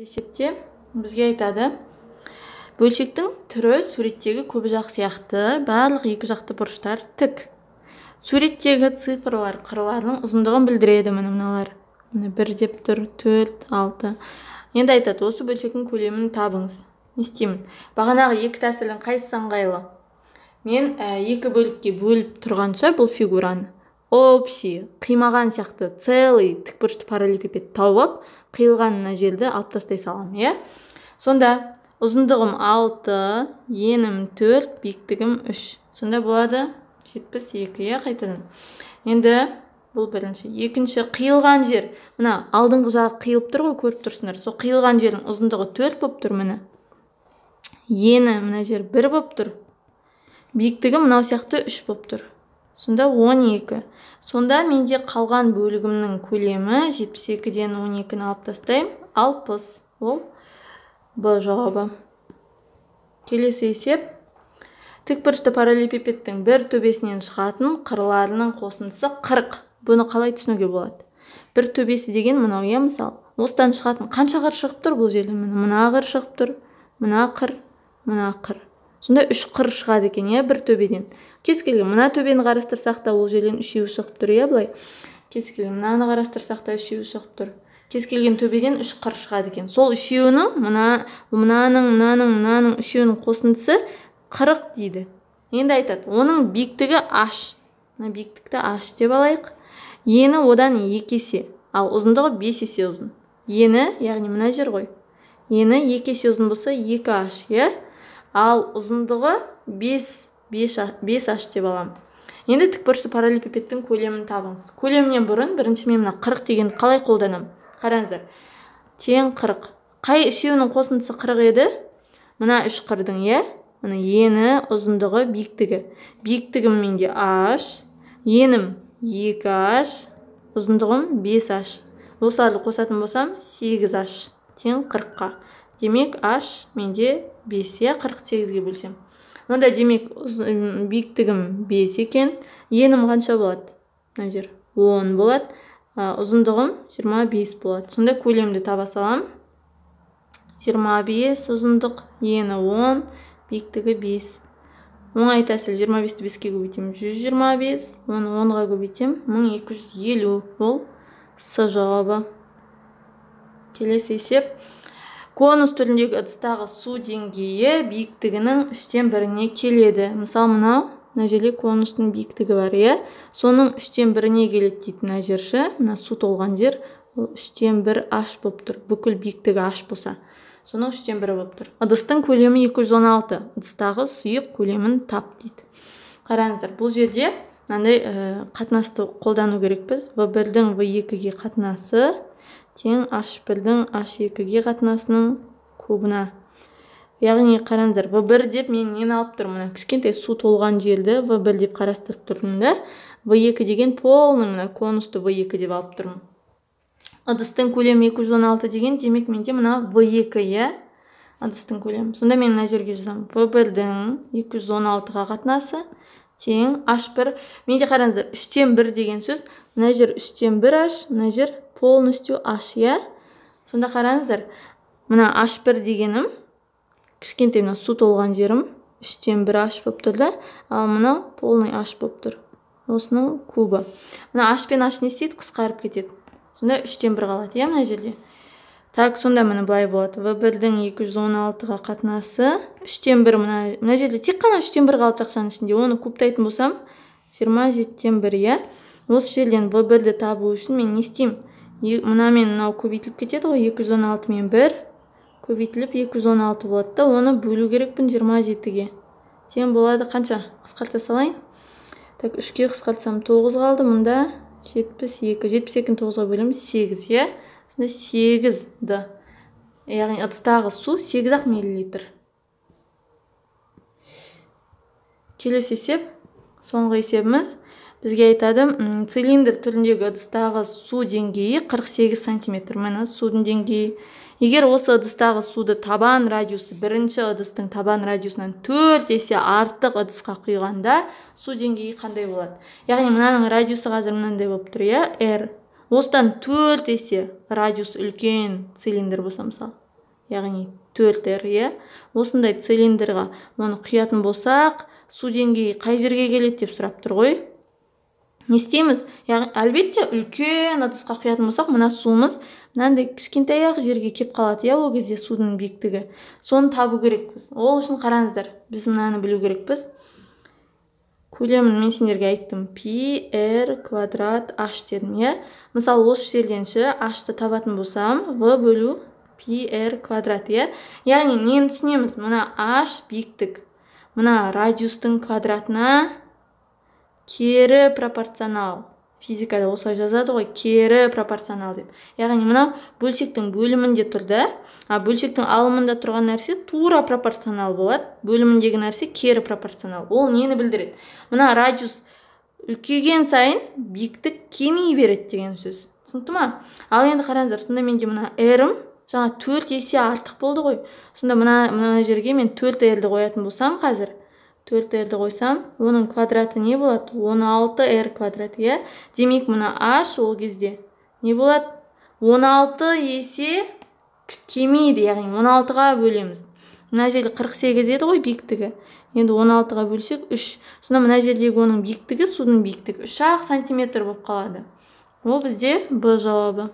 есепте бізге айтады, бөлшектің түрі суреттегі көбжақ сияқты, барлық екі жақты бұрыштар тік. Суреттегі цифрлар қырларының ұзындығын білдіреді. Мыналар 1 деп тұр, 4, 6. Енді айтады, осы бөлшектің көлемін табыңыз. Не істеймін? Бағанағы екі тәсілдің қайсысы ыңғайлы? Мен екі бөлікке бөліп тұрғанша бұл фигураны общий, қимаған сияқты целый тікбұрышты параллелепипед тауып, қиылған мына жерді алып тастай салам, иә? Сонда ұзындығым 6, енім 4, биіктігім 3. Сонда болады 72, иә, қайтадан. Енді бұл бірінші. Екінші, қиылған жер. Мына алдыңғы жағы қиылып тұр ғой, көріп тұрсыңдар. Сол қиылған жердің ұзындығы 4 болып тұр, міне. Ені мына жер 1 болып тұр. Биіктігі мынау сияқты 3 болып тұр. Сонда 12. Сонда менде қалған бөлігімнің көлемі 72-ден 12-ні алып тастайым, 60. Ол Б жауабы. Келесі есеп. Тікбұрышты параллелепипедтің бір төбесінен шығатын қырларының қосындысы 40. Бұны қалай түсінуге болады? Бір төбесі деген мынау, иә, мысалы. Осыдан шығатын қанша қыр шығып тұр бұл жерден? Мына қыр шығып тұр, мына қыр, мына қыр. Сонда 3 қыр шығады екен, иә, бір төбеден. Кез келген мына төбені қарастырсақ та ол жерден 3-еуі шығып тұр, иә, былай. Кез келген мынаны қарастырсақ та 3-еуі шығып тұр. Кез келген төбеден 3 қыр шығады екен. Сол 3-еуінің, мынаның 3-еуінің қосындысы 40 дейді. Енді айтады, оның биіктігі h. Мына биіктікті h деп алайық. Ені одан 2 есе, ал ұзындығы 5 есе ұзын. Ені, яғни мына жер ғой. Ені 2 есе ұзын болса 2h, иә? Ал ұзындығы 5h деп алам. Енді тікбұрышты параллелепипедтің көлемін табыңыз. Көлемінен бұрын бірінші мен мына 40 дегенді қалай қолданам? Қараңыздар. Тең 40. Қай үшеуінің қосындысы 40 еді? Мына 3 қырдың, иә? Мына ені, ұзындығы, биіктігі. Биіктігім менде h, енім 2h, ұзындығым 5h. Осыларды қосатын болсам 8h тең 40-қа. Демек h менде 5, иә, 48-ге бөлсем. Онда демек биіктігім 5 екен. Енім қанша болады? Мына жер 10 болады. Ұзындығым 25 болады. Сонда көлемді таба салам. 25 ұзындық, ені 10, биіктігі 5. Оңай тәсіл 25-ті 5-ке көбейтем 125, оны 10-ға көбейтем 1250. Ол С жауабы. Келесі есеп. Конус түріндегі ыдыстағы су деңгейі биіктігінің 3-тен 1-не келеді. Мысалы, мына жерде конустың биіктігі бар, иә? Соның 3-тен 1-не келеді дейді мына жерші. Мына су толған жер, ол 3-тен 1 h болып тұр. Бүкіл биіктігі h болса. Соның 3-тен 1 болып тұр. Ыдыстың көлемі 216. Ыдыстағы сұйық көлемін тап дейді. Қараңыздар, бұл жерде мынандай қатынасты қолдану керекпіз. V1-дің V2-ге қатынасы тең H1-дің H2-ге қатынасының кубына. Яғни қараңыздар, V1 деп мен нені алып тұрмын? Кішкентай су толған жерді V1 деп қарастырып тұрмын да. V2 деген полный мына конусты V2 деп алып тұрмын. Ыдыстың көлемі 216 деген, демек менде мына V2, иә? Ыдыстың көлемі. Сонда мен мына жерге жазам. V1-дің 216-ға қатынасы тең H1. Менде қараңыздар, 3-тен 1 деген сөз. Мына жер 3-тен 1h, мына жер полностью h, иә? Сонда қараңыздар, мына H1 дегенім, кішкентай мына су толған жерім 3-тен 1h болып тұр да, ал мына полный h болып тұр. Осының кубы. Мына h пен h не істейді? Қысқарып кетеді. Сонда 3-тен 1 қалады, иә, мына жерде. Так, сонда міне былай болады. V1-дің 216-ға қатынасы 3-тен 1, мына жерде тек қана 3-тен 1 қалды жақшаның ішінде. Оны кубтайтын болсам 27-тен 1, иә? Осы жерден V1-ді табу үшін мен не істеймін? Мына мен мынау көбейтіліп кетеді ғой, 216 мен 1 көбейтіліп 216 болады да, оны бөлу керекпін 27-ге. Тең болады қанша? Қысқарта салайын. Так, 3-ке қысқартсам 9 қалды, мұнда 72. 72-ні 9-ға бөлеміз 8, иә? Сонда 8-ді. Яғни ыдыстағы су 8-ақ миллилитр. Келесі есеп, соңғы есебіміз. Бізге айтады, цилиндр түріндегі ыдыстағы су деңгейі 48 сантиметр. Мына судың деңгейі. Егер осы ыдыстағы суды табан радиусы бірінші ыдыстың табан радиусынан 4 есе артық ыдысқа құйғанда су деңгейі қандай болады? Яғни мынаның радиусы қазір мынандай болып тұр, иә? R. Осыдан 4 есе радиус үлкен цилиндр болса, мысалы. яғни 4R, иә. Осындай цилиндрға оны құятын болсақ, су деңгейі қай жерге келеді деп сұрап тұр ғой. Не істейміз? Әлбетте, үлкен ыдысқа құятын болсақ, мына суымыз мынандай кішкентай жерге кеп қалады, иә, ол кезде судың биіктігі. Соны табу керекпіз. Ол үшін қараңыздар, біз мынаны білу керекпіз. Көлемін мен сендерге айттым, πr квадрат h дедім, иә. Мысалы, осы жерден h-ты табатын болсам, v бөлу πr квадрат, иә. Яғни, нені түсінеміз? Мына h биіктік, мына радиустың квадратына кері пропорционал. Физикада осылай жазады ғой, кері пропорционал деп. Яғни, мына бөлшектің бөлімінде тұрды, а бөлшектің алымында тұрған нәрсе тура пропорционал болады. Бөліміндегі нәрсе кері пропорционал. Ол нені білдіреді? Мына радиус үлкейген сайын биіктік кемей береді деген сөз. Түсінікті ма? Ал енді қараңыздар, сонда менде мына r-ім жаңа 4 есе артық болды ғой. Сонда мына жерге мен 4r-ді қоятын болсам қазір, 4r-ді қойсам, оның квадраты не болады? 16r квадрат, иә? Демек, мына h ол кезде не болады? 16 есе кемейді, яғни 16-ға бөлеміз. Мына жерде 48 еді ғой биіктігі. Енді 16-ға бөлсек 3. Сонда мына жердегі оның биіктігі, судың биіктігі 3-ақ сантиметр болып қалады. Ол бізде Б жауабы.